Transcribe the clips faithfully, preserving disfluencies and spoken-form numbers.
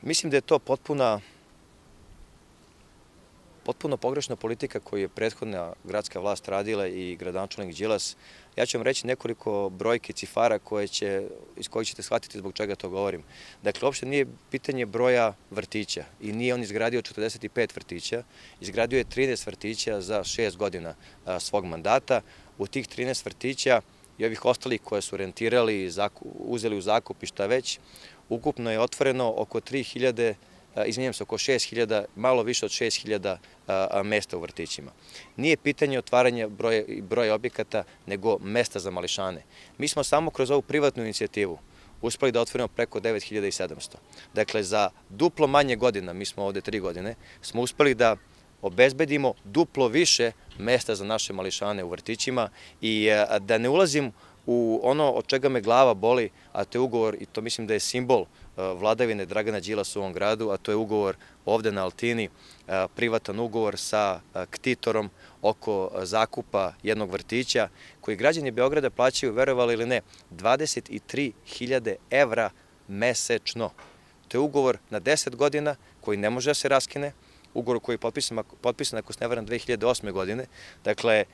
Mislim da je to potpuna, potpuno pogrešna politika koju je prethodna gradska vlast radila i gradonačelnik Đilas. Ja ću vam reći nekoliko brojki, cifara koje će, iz kojih ćete shvatiti zbog čega to govorim. Dakle, uopšte nije pitanje broja vrtića i nije on izgradio četrdeset pet vrtića, izgradio je trinaest vrtića za šest godina a, svog mandata. U tih trinaest vrtića i ovih ostalih koje su rentirali, uzeli u zakup i šta već, ukupno je otvoreno oko tri hiljade, izvinjam se, oko šest hiljada, malo više od šest hiljada mesta u vrtićima. Nije pitanje otvaranja broja, broja objekata, nego mesta za mališane. Mi smo samo kroz ovu privatnu inicijativu uspeli da otvorimo preko devet hiljada sedamsto. Dakle, za duplo manje godina, mi smo ovde tri godine, smo uspeli da obezbedimo duplo više mesta za naše mališane u vrtićima i da ne ulazim u ono od čega me glava boli, a to je ugovor, i to mislim da je simbol vladavine Dragana Đilasa u ovom gradu, a to je ugovor ovde na Altini, privatan ugovor sa ktitorom oko zakupa jednog vrtića, koji građani Beograda plaćaju, verovali ili ne, dvadeset tri hiljade evra mesečno. To je ugovor na deset godina koji ne može da se raskine, ugovor koji je potpisan, potpisan ako se ne varam, dve hiljade osme godine. Dakle,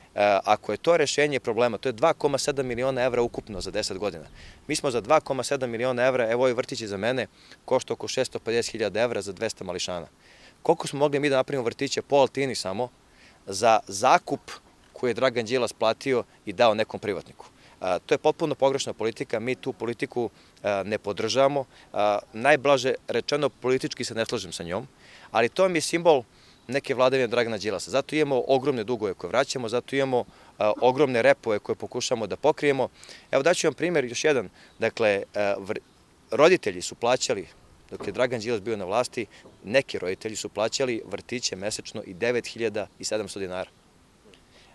ako je to rešenje problema, to je dva zarez sedam miliona evra ukupno za deset godina. Mi smo za dva zarez sedam miliona evra, evo ovaj vrtić za mene, košta oko šesto pedeset hiljada evra za dvesta mališana. Koliko smo mogli mi da napravimo vrtića po Altini samo za zakup koji je Dragan Đilas platio i dao nekom privatniku? To je potpuno pogrešna politika, mi tu politiku ne podržavamo. Najblaže rečeno, politički se ne slažem sa njom, ali to mi je simbol neke vladavine Dragana Đilasa. Zato imamo ogromne dugove koje vraćamo, zato imamo ogromne repove koje pokušamo da pokrijemo. Evo daću vam primjer još jedan. Dakle, roditelji su plaćali, dok je Dragan Đilas bio na vlasti, neki roditelji su plaćali vrtiće mesečno i devet hiljada sedamsto dinara.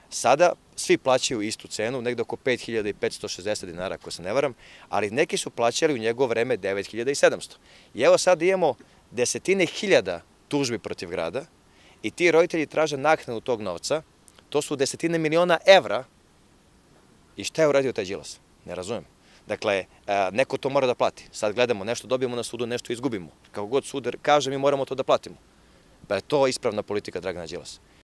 Sada svi plaćaju istu cenu, negde oko pet hiljada petsto šezdeset dinara, ako se ne varam, ali neki su plaćali u njegovo vreme devet hiljada sedamsto. I evo sad imamo desetine hiljada tužbi protiv grada i ti roditelji traže naknadu tog novca, to su desetine miliona evra. I šta je uradio taj Đilas? Ne razumem. Dakle, neko to mora da plati. Sad gledamo, nešto dobijemo na sudu, nešto izgubimo. Kako god sud kaže, mi moramo to da platimo. Pa je to ispravna politika Dragana Đilasa.